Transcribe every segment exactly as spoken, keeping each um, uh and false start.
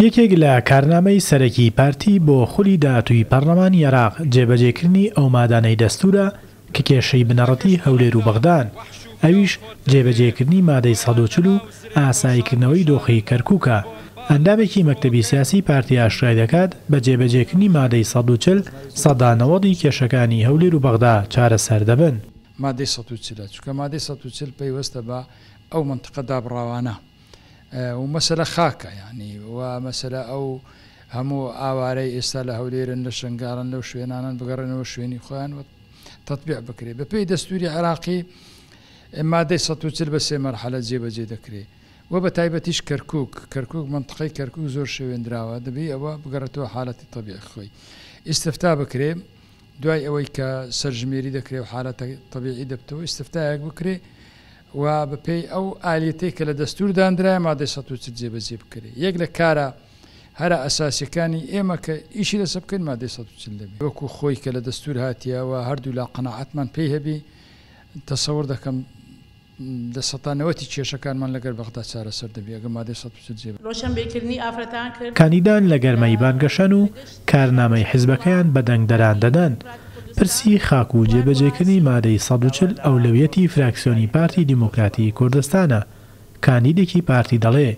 یەکێک لە کارنامەی سەرەکی پارتی بۆ خولی داهاتووی پەرلەمانی عێراق جێبەجێکردنی ئەو مادانەی دەستورە کە کێشەی بنەڕەتی هەولێر و بەغدان، ئەویش جێبەجێکردنی مادەی سەد و چل و ئاساییکردنەوەی دۆخی کەرکوکە. ئەندامێکی مەکتەبی سیاسی پارتی ئاشکرای دەکات بە جێبەجێکردنی مادەی سەد و چل سەدا نەوەدی کێشەکانی هەولێر و بەغدا چارەسەر دەبن. مادەی سەد و چل چونکە مادەی سەد و چل پەیوەستە بە ئەو مەنتقە دابڕاوانە و مەسەلە خاکە، یعنی و مەسەلە ئەو هەموو ئاوارەی ئێستا لە هەولێرن، لە شنگالن، لەو شوێنانن بگەڕێنەوە شوێنی خۆیان و تەطبیع بکرێ. بەپێی دەستوری عێراقی مادەی سەد و چل بە سێ مەرحەلە جێبەجێ دەکرێ و بە تایبەتیش کەرکوک، کەرکوک منطقەی کەرکوک زۆر شێوێندراوە، دەبێ ئەوە بگەڕێتەوە حالەتی طبیعی خۆی. ئیستفتا بکرێ دوای ئەوەی کە سەرژمێری دەکرێ و حالەتە طبیعی دەبتەوە ئیستفتایەک بکرێ و بەپێی ئەو ئالیەتەی کە لە دەستور دانرایە مادەی سەد و چل جێبەجێ بکرێ. یەک لە کارە هەرە ئەساسیەکانی ئێمە کە ئیشی لەسەر بکەین مادەی سەد و چل دەبێ. وەکو خۆی کە لە دەستور هاتیەوە هەردوو لا قەناعەتمان پێی هەبی، تەسەور دەکەم لە سەتا نەوەتی کێشەکانمان لەگەر بەغدا چارەسەر دەبێ ئەگەر مادەی سەد و چل جێبەجێ. کاندیدان لە گەرمەی بانگەشەن و کارنامەی حیزبەکەیان بە دەنگدەران دەدەن. پرسی خاک و جێبەجێکردنی مادەی سەد و چل ئەولەویەتی فراکسیۆنی پارتی دیموکراتی کوردستانە. کاندیدێکی پارتی دەڵێ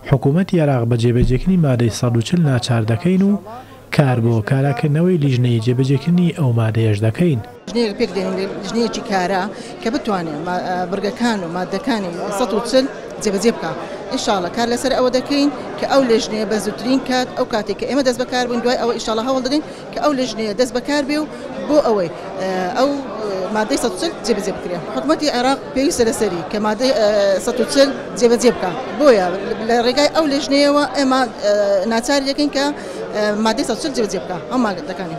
حکوومەتی عێراق بە جێبەجێکردنی مادەی سەد و چل ناچار دەکەین و کار بۆ کاراکردنەوەی لیژنەی جێبەجێکردنی ئەو مادەیەش دەکەین. لیژنەیەک پێک دێنین، لیژنەیەکی کارا کە بتوانێت بڕگەکان و مادەکانی سەد و چل جێبەجێ بکا. ئینشاڵڵا کار لەسەر ئەوە دەکەین کە ئەو لیژنەیە بە زووترین کات، ئەو کاتێک کە ئێمە دەست بەکار بووین، دوای ئەوە ئینشاڵڵا هەوڵ دەدەین کە ئەو لیژنەیە دەست بەکار بێ و بۆ ئەوەی ئەو مادەی سەد و چل جێبەجێ بکرێ. حکوومەتی عێراق پێویستە لەسەری کە مادەی سەد و چل جێبەجێ بکا، بۆیە لە ڕێگای ئەو لیژنەیەوە ئێمە ناچاری دەکەین کە مادەی سەد و چل جێبەجێ بکا ئەو مادەکانی.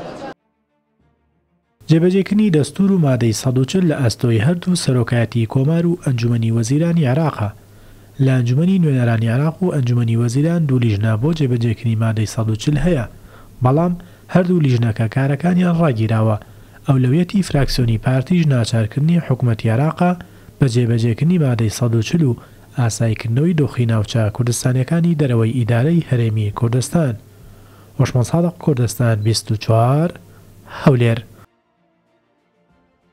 جێبەجێکردنی دەستور و مادەی سەد و چل لە ئەستۆی هەردوو سەرۆکایەتی کۆمار و ئەنجومەنی وەزیرانی عێراقە. لە ئەنجومەنی نوێنەرانی عێراق و ئەنجومەنی وەزیران دوو لیژنە بۆ جێبەجێکردنی مادەی سەد و چل هەیە، بەڵام هەردوو لیژنەکە کارەکانیان ڕاگیراوە. ئەولەویەتی فراکسیۆنی پارتیش ناچارکردنی حکوومەتی عێراقە بە جێبەجێکردنی مادەی سەد و چل و ئاساییکردنەوەی دۆخی ناوچە کوردستانیەکانی دەرەوەی ئیدارەی هەرێمی کوردستان. هۆشمەند سادق، کوردستان بیست و چوار، هەولێر.